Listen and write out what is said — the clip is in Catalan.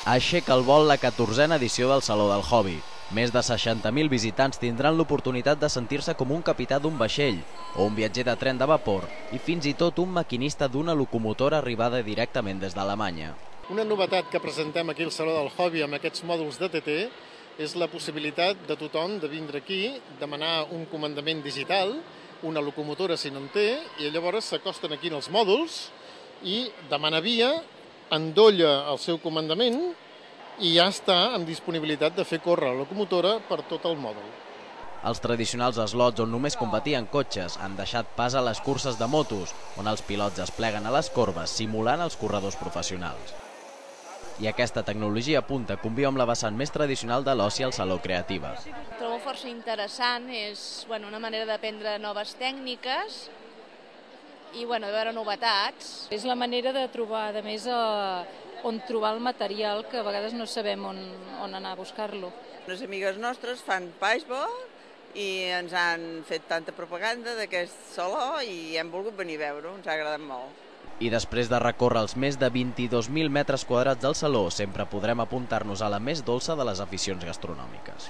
Aixeca el vol la 14a edició del Saló del Hobby. Més de 60.000 visitants tindran l'oportunitat de sentir-se com un capità d'un vaixell o un viatger de tren de vapor i fins i tot un maquinista d'una locomotora arribada directament des d'Alemanya. Una novetat que presentem aquí al Saló del Hobby amb aquests mòduls de TT és la possibilitat de tothom de vindre aquí, demanar un comandament digital, una locomotora si no en té, i llavors s'acosten aquí en els mòduls i demana via, endolla el seu comandament i ja està en disponibilitat de fer córrer la locomotora per tot el mòdul. Els tradicionals slots on només competien cotxes han deixat pas a les curses de motos, on els pilots es pleguen a les corbes simulant els corredors professionals. I aquesta tecnologia punta conviu amb la vessant més tradicional de l'oci al Saló Creativa. Trobo força interessant, és una manera d'aprendre noves tècniques i de veure novetats. És la manera de trobar, a més, on trobar el material, que a vegades no sabem on anar a buscar-lo. Les amigues nostres fan paintball i ens han fet tanta propaganda d'aquest saló i hem volgut venir a veure-ho, ens ha agradat molt. I després de recórrer els més de 22.000 metres quadrats del saló, sempre podrem apuntar-nos a la més dolça de les aficions gastronòmiques.